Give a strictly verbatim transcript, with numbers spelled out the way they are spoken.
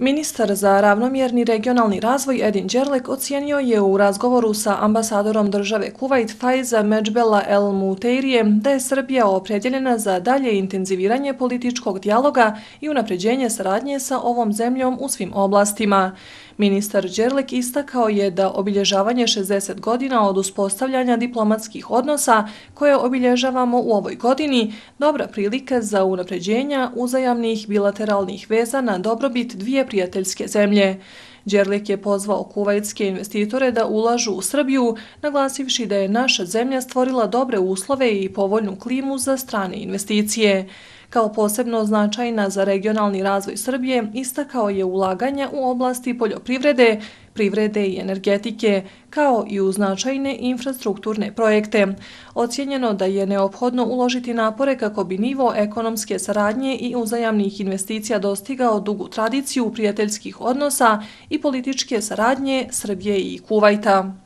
Ministar za ravnomjerni regionalni razvoj Edin Đerlek ocijenio je u razgovoru sa ambasadorom države Kuvajt Faiza Medžbela El Muteirije da je Srbija opredjeljena za dalje intenziviranje političkog dijaloga i unapređenje saradnje sa ovom zemljom u svim oblastima. Ministar Đerlek istakao je da obilježavanje šezdeset godina od uspostavljanja diplomatskih odnosa koje obilježavamo u ovoj godini dobra prilika za unapređenja uzajamnih bilateralnih veza na dobrobit dvije prijateljske zemlje. Đerlek je pozvao kuvajtske investitore da ulažu u Srbiju, naglasivši da je naša zemlja stvorila dobre uslove i povoljnu klimu za strane investicije. Kao posebno značajna za regionalni razvoj Srbije istakao je ulaganja u oblasti poljoprivrede, privrede i energetike, kao i u značajne infrastrukturne projekte. Ocijenjeno da je neophodno uložiti napore kako bi nivo ekonomske saradnje i uzajamnih investicija dostigao dugu tradiciju prijateljskih odnosa i političke saradnje Srbije i Kuvajta.